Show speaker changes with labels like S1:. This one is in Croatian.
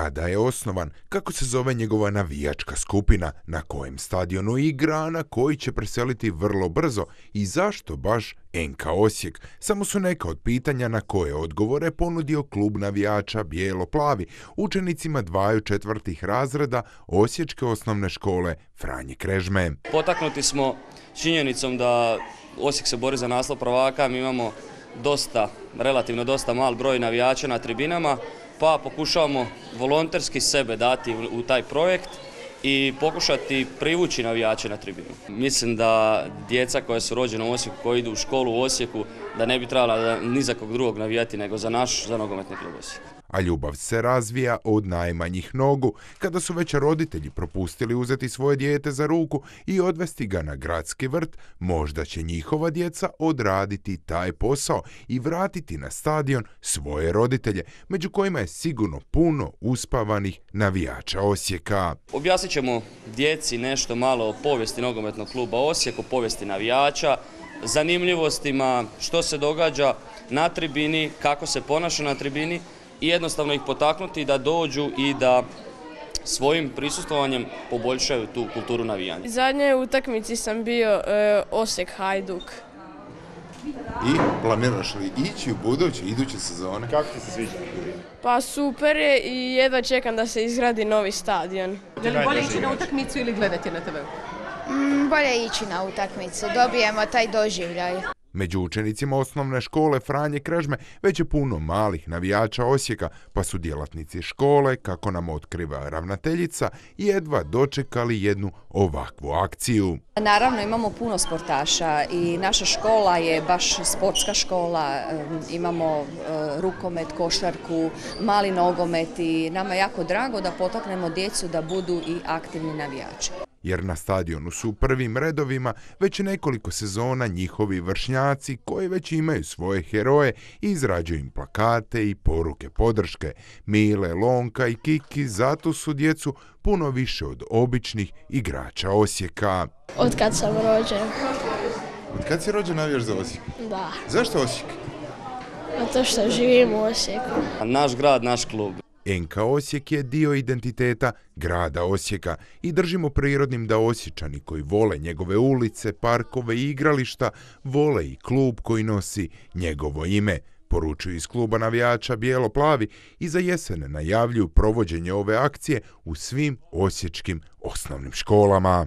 S1: kada je osnovan, kako se zove njegova navijačka skupina, na kojem stadionu igra, na koji će preseliti vrlo brzo i zašto baš NK Osijek. Samo su neka od pitanja na koje odgovore ponudio klub navijača Bijelo-plavi učenicima 2. četvrtih razreda Osječke osnovne škole Franje Krežme.
S2: Potaknuti smo činjenicom da Osijek se bori za naslov prvaka, mi imamo relativno dosta mal broj navijača na tribinama, pa pokušavamo volonterski sebe dati u taj projekt i pokušati privući navijače na tribinu. Mislim da djeca koja su rođena u Osijeku, koji idu u školu u Osijeku, da ne bi trebala ni za kog drugog navijati nego za nogometni klub Osijek.
S1: A ljubav se razvija od najmanjih nogu, kada su već roditelji propustili uzeti svoje dijete za ruku i odvesti ga na gradski vrt, možda će njihova djeca odraditi taj posao i vratiti na stadion svoje roditelje, među kojima je sigurno puno uspavanih navijača Osijeka.
S2: Objasnit ćemo djeci nešto malo o povijesti nogometnog kluba Osijek, o povijesti navijača, zanimljivostima, što se događa na tribini, kako se ponaša na tribini, i jednostavno ih potaknuti da dođu i da svojim prisustvovanjem poboljšaju tu kulturu navijanja.
S3: Zadnjoj utakmici sam bio Osijek-Hajduk.
S1: I planiraš li ići u iduće sezone?
S4: Kako ti se sviđa?
S3: Pa super je i jedva čekam da se izgradi novi stadion.
S5: Je li bolje ići na utakmicu ili gledati na TV?
S6: Bolje ići na utakmicu, dobijemo taj doživljaj.
S1: Među učenicima osnovne škole Franje Krežme već je puno malih navijača Osijeka, pa su djelatnici škole, kako nam otkriva ravnateljica, jedva dočekali jednu ovakvu akciju.
S5: Naravno imamo puno sportaša i naša škola je baš sportska škola, imamo rukomet, košarku, mali nogomet i nama je jako drago da potaknemo djecu da budu i aktivni navijači.
S1: Jer na stadionu su u prvim redovima već nekoliko sezona njihovi vršnjaci koji već imaju svoje heroje i izrađuju im plakate i poruke podrške. Mile, Lonka i Kiki zato su djecu puno više od običnih igrača Osijeka.
S3: Od kad sam rođen.
S1: Od kad si rođen navijaš za Osijek?
S3: Da.
S1: Zašto Osijek?
S3: Zato što živim u Osijeku.
S2: Naš grad, naš klub.
S1: NK Osijek je dio identiteta grada Osijeka i držimo prirodnim da Osječani koji vole njegove ulice, parkove i igrališta vole i klub koji nosi njegovo ime. Poručuju iz kluba navijača Bijelo-plavi i za jesen najavljuju provođenje ove akcije u svim osječkim osnovnim školama.